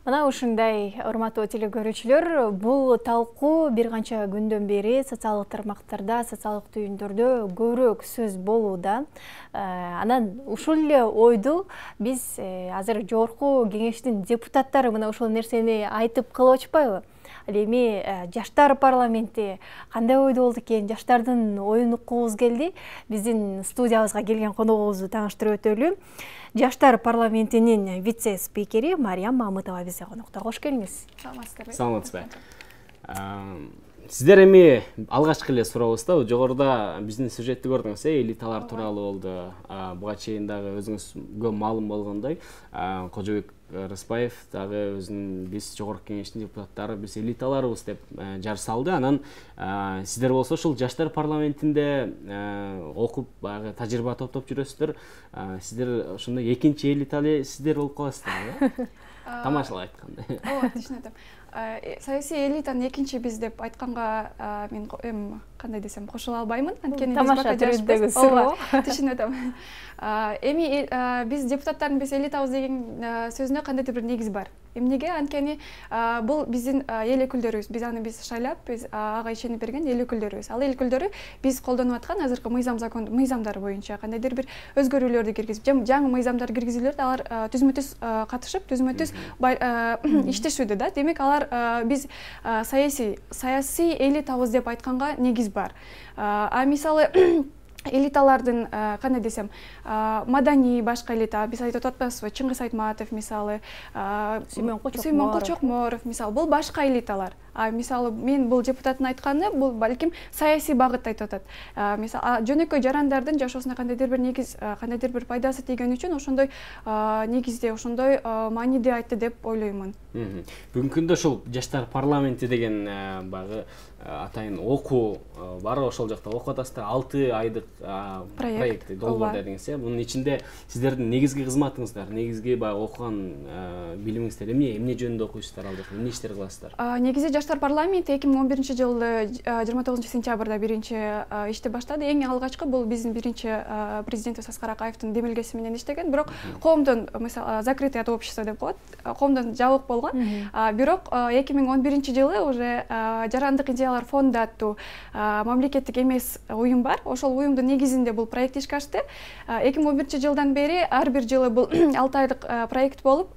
Мына ушундай урматтуу телекөрүүчүлөр, бул талкуу бир канча күндөн бери социалдык тармактарда, социалдык түйүндөрдө көбүрөөк сөз болууда. Анан ушул эле ойду биз азыр жогорку кеңештин депутаттары мына ушул нерсени айтып кылып атышпайбы? Ал эми жаштар парламенти кандай ойдо болду экен, жаштардын оюн уккубуз келди. Биздин студиябызга келген коногубузду тааныштырып өтөлү. Жаштар парламентинин вице-спикери Мариям Мамытова бизде конокто. Кош келиңиз. Саламатсызбы. Сиздер эми алгачкы эле сурообузда, жогоруда биздин сюжетти көрдүңүз, элиталар тууралуу болду. Буга чейин дагы өзүңүзгө маалым болгондой, Кожобек Рыспаев дагы өзүнүн биз жогорку кеңештин депутаттары, биз элиталарыбыз деп жар салды. Анан сиздер болсо ушул жаштар парламентинде окуп, баягы тажрыйба топтоп жүрөсүздөр. Сиздер ошондой экинчи элиталы сиздер болуп каласыздар. Тамашалап айтканда. Ооба, түшүнөтөм. Саясий элитанын экинчи биз деп айтканга мен кандай десем кошула албаймын. Анткени биз бака жашпайбыз. Ооба, түшүнөтөм. Эми биз депутаттардын биз элитабыз деген сөзүнө кандайдыр бир негиз бар. Эмнеге? Анткени бул биздин эл өкүлдөрүбүз. Биз аны шайлап, биз ага ишенип берген эл өкүлдөрүбүз. Ал эл өкүлдөрү биз колдонуп аткан азыркы мыйзамдар боюнча кандайдыр бир өзгөрүүлөрдү киргизип, жаңы мыйзамдар киргизүүлөрдө алар түзмө-түз катышып, түзмө-түз иштешүүдө да. Демек алар биз саясий элитабыз деп айтканга негиз бар. Мисалы элиталардын кандай десем, маданий башка элита, биз айтып атпайбызбы, Чыңгыз Айтматов мисалы, Сүймөнкул Чокморов мисалы, бул башка элиталар. Мисалы мен бул депутаттын айтканы, бул балким саясий багытта айтып атат. Мисалы жөнөкөй жарандардын жашоосуна кандайдыр бир негиз, кандайдыр бир пайдасы тийген үчүн ошондой негизде, ошондой мааниде айтты деп ойлоймун. Бүгүнкү күндө ушул жаштар парламенти деген баягы атайын окуу бар, ошол жакта окуп атасыздар. 6 айдык проекти долбоор дедиңиз, Бунун ичинде сиздердин негизги кызматыңыздар, негизги баягы окуган билимиңиздер эмне жөнүндө окуйсуздар, ал жакта эмне иштер кыласыздар? Негизи жаштар парламенти 2011-жылы 29 сентябрда биринчи ишти баштады. Эң алгачкы бул биздин биринчи президентибиз Аскар Акаевдин демилгеси менен иштеген. Бирок коомдон, мисалы, закрытое общество деп коет, коомдон жабык болгон. Бирок 2011-жылы уже жарандык идеялар фонду аттуу мамлекеттик эмес уюм бар. Ошол уюмдун негизинде бул проект ишке ашты. 2011-жылдан бери ар бир жылы бул 6 айдык проект болуп,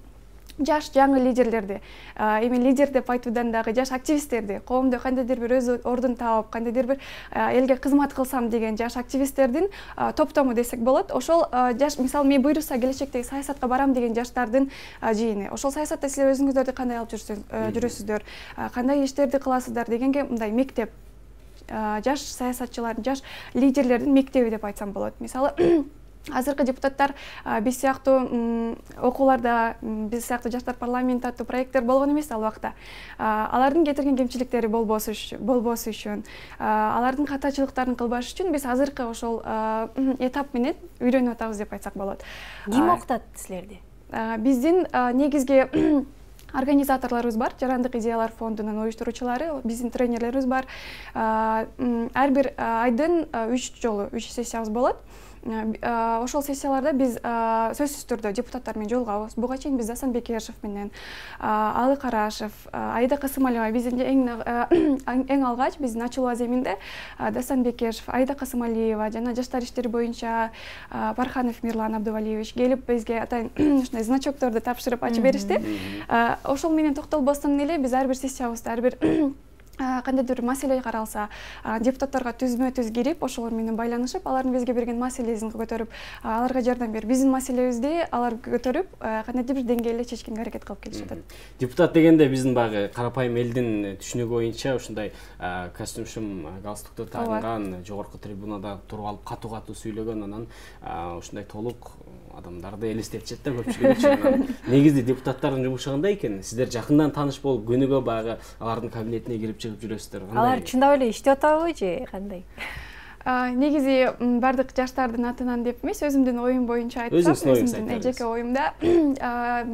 жаш жаңы лидерлерди, эми лидер деп айтуудан дагы жаш активисттерди, коомдо кандайдыр бир өз ордун таап, кандайдыр бир элге кызмат кылсам деген жаш активисттердин топтому десек болот. Ошол жаш, мисалы, мен буйруса келечектеги саясатка барам деген жаштардын жыйыны. Ошол саясатта силер өзүңүздөрдү кандай алып жүрөсүздөр, кандай иштерди кыласыздар дегенге мындай мектеп, жаш саясатчылардын, жаш лидерлердин мектеби деп айтсам болот. Мисалы, азыркы депутаттар биз сыяктуу окууларда, биз сыяктуу жаштар парламенти аттуу проекттер болгон эмес ал убакта. Алардын кетирген кемчиликтери болбосу үчүн, алардын катачылыктарын кылбаш үчүн биз азыркы ошол этап менен үйрөнүп атабыз деп айтсак болот. Ким окутат силерди? Биздин негизги организаторлорубуз бар, жарандык идеялар фондунун уюштуруучулары, биздин тренерлерибиз бар. Ар бир айдын 3 жолу 3 сессиябыз болот. Ошол сессияларда биз сөзсүз түрдө депутаттар менен жолугабыз. Буга чейин биз Дасан Бекешев менен, Алы Карашев, Аида Касымалиева, биздин эң алгач биздин ачылуу аземинде Дасан Бекешев, Аида Касымалиева жана жаштар иштери боюнча Парханов Мирлан Абдувалиевич келип бизге атайын ушундай значокторду тапшырып ачып беришти. Ошол менен токтолбостон эле биз ар бир сессиябызда, ар бир кандайдыр маселе каралса, депутаттарга түзмө-түз кирип, ошолор менен байланышып, алардын бизге берген маселесин көтөрүп, аларга жардам берип, биздин маселебизди алар көтөрүп, кандайдыр бир деңгээлде чечкенге аракет кылып келишет. Депутат дегенде биздин баягы карапайым элдин түшүнүгү боюнча ушундай костюм-шум галстукту тагынган, жогорку трибунада туруп алып катуу-катуу сүйлөгөн, анан ушундай толук адамдарды элестетишет да көпчүлүк үчүн. Негизги депутаттардын жумушу кандай экен? Сиздер жакындан тааныш болуп, күнүгө баягы алардын кабинетине кирип чыгып жүрөсүздөр. Алар чындап эле иштеп атабы же кандай? Негизи бардык жаштардын атынан деп эмес, өзүмдүн оюм боюнча айтсам, өзүмдүн жеке оюмда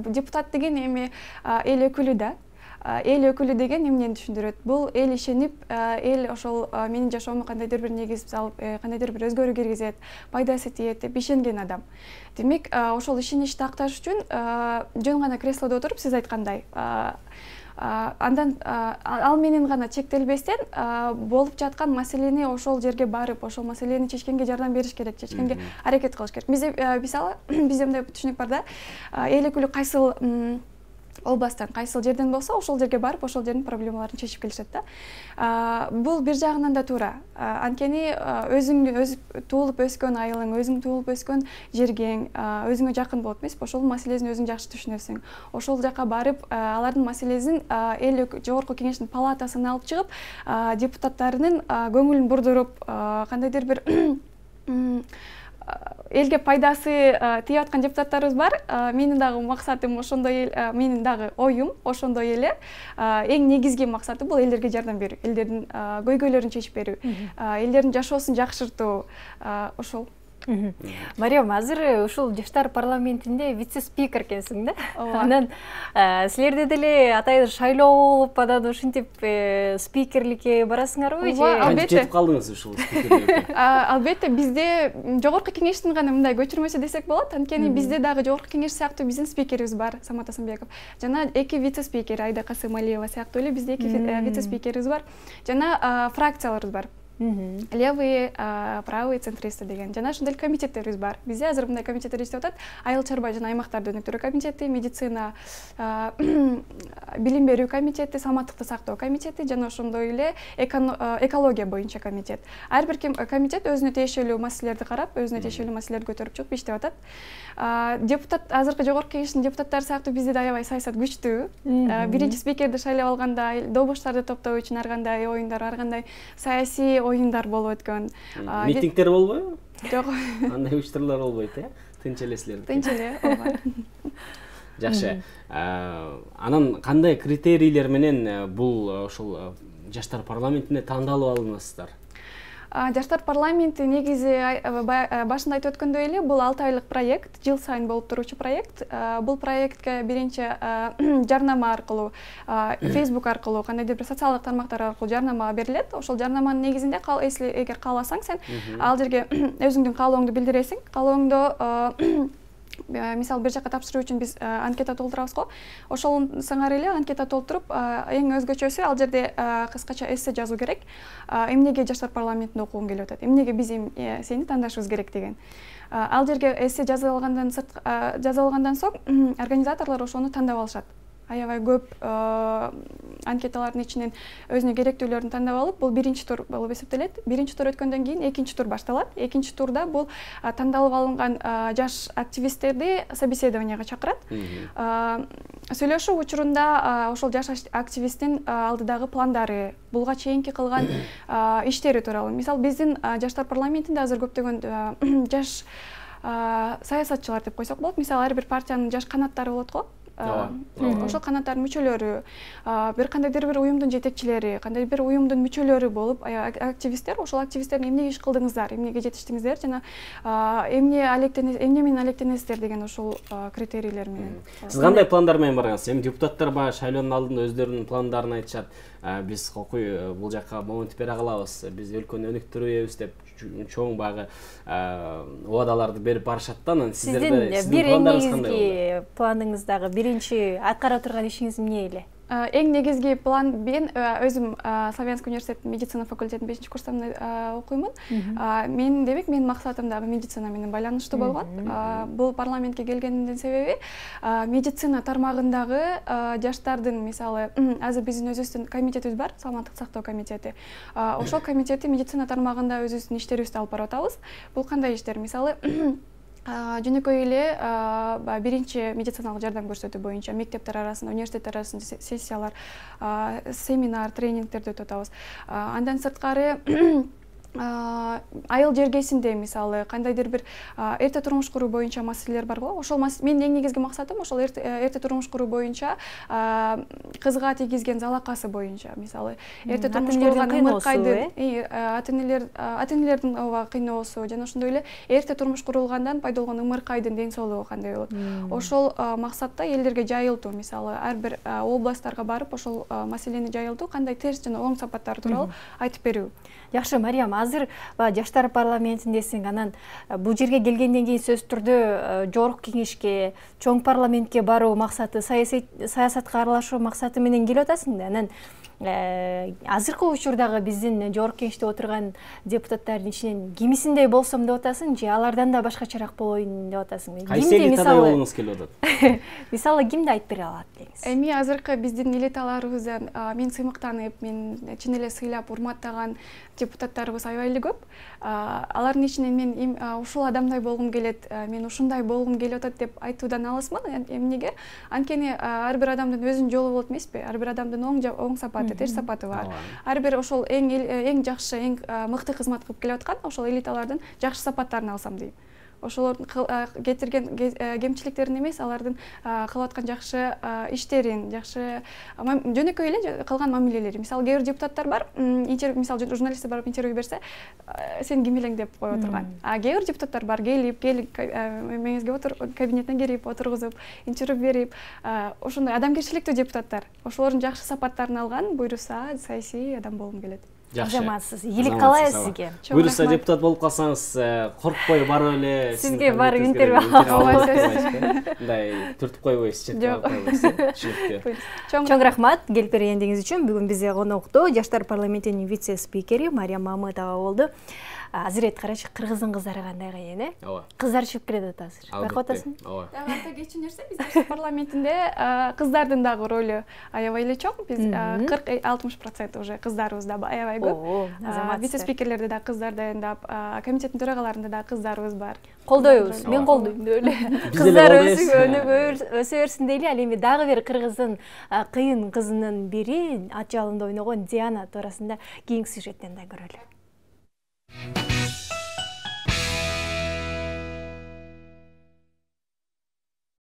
депутат деген эми эл өкүлү да. эл өкүлү деген эмнени түшүндүрөт? Бул эл ишенип, эл ошол менин жашоомо кандайдыр бир негиз салып, кандайдыр бир өзгөрүү киргизет, пайдасы тиет деп ишенген адам. Демек, ошол ишеничти акташ үчүн жөн гана креслодо отуруп сиз айткандай андан ал менен гана чектелбестен болуп жаткан маселени ошол жерге барып, ошол маселени чечкенге жардам бериш керек, чечкенге аракет кылыш керек. Мисалы, бизде мындай түшүнүк бар да, эл өкүлү кайсыл областтан, кайсыл жерден болсо, ошол жерге барып, ошол жердин проблемаларын чечип келишет да. Бул бир жагынан да туура. Анткени өз туулуп өскөн айылың, өзүң туулуп өскөн жергең өзүңө жакын болот эмеспи? Ошол маселесин өзүң жакшы түшүнөсүң. Ошол жака барып, алардын маселесин эл жогорку кеңештин палатасына алып чыгып, депутаттарынын көңүлүн бурдуруп, кандайдыр бир элге пайдасы тийип аткан депутаттарыбыз бар. Менин дагы максатым ошондой, менин дагы оюм ошондой эле. Эң негизги максаты бул элдерге жардам берүү, элдердин көйгөйлөрүн чечип берүү, элдердин жашоосун жакшыртуу, ошол. Мариям, азыр ушул жаштар парламентинде вице-спикер экенсиң да? Анан силерде деле атайын шайлоо болуп, анан ушинтип спикерликке барасыңарбы же? Албетте. Жетип калдыңыз ушул спикерликке? Албетте, бизде жогорку кеңештин гана мындай көчүрмөсү десек болот. Анткени бизде дагы жогорку кеңеш сыяктуу биздин спикерибиз бар, Самат Асанбеков. Жана 2 вице-спикер, Айда Касымалиева сыяктуу эле бизде 2 вице-спикерибиз бар. Жана фракцияларыбыз бар. Левые, правые, центристы деген. Жана ошондой комитеттерибиз бар. Бизде азыр мындай комитеттер иштеп атат. Айыл чарба жана аймактарды өнүктүрүү комитети, медицина, билим берүү комитети, саламаттыкты сактоо комитети жана ошондой эле экология боюнча комитет. Ар бир комитет өзүнө тиешелүү маселелерди карап, өзүнө тиешелүү маселелерди көтөрүп чыгып иштеп атат. Депутат, азыркы жогорку кеңештин депутаттары сыяктуу бизде да аябай саясат күчтүү. Биринчи спикерди шайлап алганда добуштарды топтоо үчүн ар кандай оюндар, ар кандай саясий оюндар болуп өткөн. Митингдер болбойбу? Жок. Андай учурлар болбойт, Тынч эле силер. Тынч эле, ооба. Жакшы. Анан кандай критерийлер менен бул ошол жаштар парламентине тандалып алынасыздар? Жаштар парламенти негизи башында айтып өткөндөй эле бул 6 айлык проект, жыл сайын болуп туруучу проект. Бул проектке биринчи жарнама аркылуу, Facebook аркылуу, кандайдыр бир социалдык тармактар аркылуу жарнама берилет. Ошол жарнаманын негизинде эгер кааласаң сен ал жерге өзүңдүн каалооңду билдиресиң. Каалооңду мисалы бир жака тапшыруу үчүн биз анкета толтурабыз го. Ошол сыңар эле анкета толтуруп, эң өзгөчөсү ал жерде кыскача эссе жазуу керек. Эмнеге жаштар парламентинде окугуң келип атат? Эмнеге биз сени тандашыбыз керек деген. Ал жерге эссе жазып алгандан соң организаторлор ошону тандап алышат. Аябай көп анкеталардын ичинен өзүнө керектүүлөрүн тандап алып, бул биринчи тур болуп эсептелет. Биринчи тур өткөндөн кийин экинчи тур башталат. Экинчи турда бул тандалып алынган жаш активисттерди собеседованияга чакырат. Сүйлөшүү учурунда ошол жаш активисттин алдыдагы пландары, булга чейинки кылган иштери тууралуу. Мисалы, биздин жаштар парламентинде азыр көптөгөн жаш саясатчылар деп койсок болот. Мисалы, ар бир партиянын жаш канаттары болот го. Ошол канаттардын мүчөлөрү, бир кандайдыр бир уюмдун жетекчилери, кандайдыр бир уюмдун мүчөлөрү болуп, активисттер, ошол активисттердин эмне иш кылдыңыздар, эмнеге жетиштиңиздер жана эмне менен алектенесиздер деген ошол критерийлер менен. Сиз кандай пландар менен баргансыз? Эми депутаттар баягы шайлоонун алдында өздөрүнүн пландарын айтышат. Биз кокуй бул жака момент бере калабыз, биз өлкөнү өнүктүрөбүз деп чоң баягы убадаларды берип барышат да. Анан сиздерде бир негизги планыңыздагы биринчи аткара турган ишиңиз эмне эле? Эң негизги план, мен өзүм Славянский университеттин медицина факультетинин 5-курсында окуймун. Демек, менин максатым дагы медицина менен байланыштуу болгон. Бул парламентке келгендин себеби медицина тармагындагы жаштардын, мисалы, азыр биздин өзүбүздүн комитетибиз бар, саламаттык сактоо комитети. Ошол комитети медицина тармагында өзүбүздүн иштерибизди алып барып атабыз. Бул кандай иштер? Мисалы, жөнөкөй эле биринчи медициналык жардам көрсөтүү боюнча мектептер арасында, университеттер арасында сессиялар, семинар, тренингдерди өтүп атабыз. Андан сырткары айыл жергесинде мисалы кандайдыр бир эрте турмуш куруу боюнча маселелер бар го. Ошол менин эң негизги максатым ошол эрте турмуш куруу боюнча кызга тийгизген залакасы боюнча мисалы эрте турмуш курулган ымыркайдын ата энелердин ооба кыйноосу жана ошондой эле эрте турмуш курулгандан пайда болгон ымыркайдын ден соолугу кандай болот. Ошол максатта элдерге жайылтуу мисалы ар бир областтарга барып ошол маселени жайылтуу, кандай терс жана оң сапаттары тууралуу айтып берүү. Жакшы, Мариям, азыр жаштар парламентиндесиң, анан бул жерге келгенден кийин сөзсүз түрдө жогорку кеңешке, чоң парламентке баруу максаты, саясатка аралашуу максаты менен келип атасың да. Анан азыркы учурдагы биздин жогорку кеңеште отурган депутаттардын ичинен кимисиндей болсом деп атасың же алардан да башкачараак болоюн деп атасың? Кайсы элитада болгуңуз келип атат? Мисалы кимди айтып бере алат деңиз? Эми азыркы биздин элиталарыбыздан мен сыймыктанып, мен чын эле сыйлап, урматтаган депутаттарыбыз аябай эле көп. Алардын ичинен мен ушул адамдай болгум келет, мен ушундай болгум келип атат деп айтуудан алысмын. Эмнеге? Анткени ар бир адамдын өзүнүн жолу болот эмеспи? Ар бир адамдын оң сапаты, терс сапаты бар. Ар бир ошол эң жакшы, эң мыкты кызмат кылып келип аткан ошол элиталардын жакшы сапаттарын алсам дейм. Ошолордун кетирген кемчиликтерин эмес, алардын кылып аткан жакшы иштерин, жакшы жөнөкөй эле кылган мамилелери. Мисалы, кээ бир депутаттар бар, мисалы журналисттер барып интервью берсе, сен ким элең деп кое отурган. Кээ бир депутаттар бар, келип меңизге кабинетине кирип отургузуп, интервью берип, ошондой адамгерчиликтүү депутаттар. Ошолордун жакшы сапаттарын алган, буйруса саясий адам болгум келет. Азаматсыз, ийгилик каалайбыз сизге. Буйруса депутат болуп калсаңыз, коркпой барып эле сизге барып интервью алабыз. Мындай түртүп койбойсуз, четтеп койбойсуз. Чоң рахмат келип бергениңиз үчүн. Бүгүн бизде конокто жаштар парламентинин вице-спикери Мариям Мамытова болду. Азырет карачы, кыргыздын кыздары кандай кыйын, Ооба. Кыздар чыгып келет атасыз. Байкап атасың? Ооба. Айта кетчү нерсе, биздин парламентинде кыздардын дагы ролу аябай эле чоң. Биз 40-60% уже кыздарыбыз да аябай көп. Вице-спикерлерде да кыздар дайындап, комитеттин төрагаларында да кыздарыбыз бар. Колдойбуз, мен колдойм деп эле. Кыздар өсө берсин дейли. Ал эми дагы бир кыргыздын кыйын кызынын бири ат жалында ойногон Диана туурасында кийинки сюжеттен да көрөлү.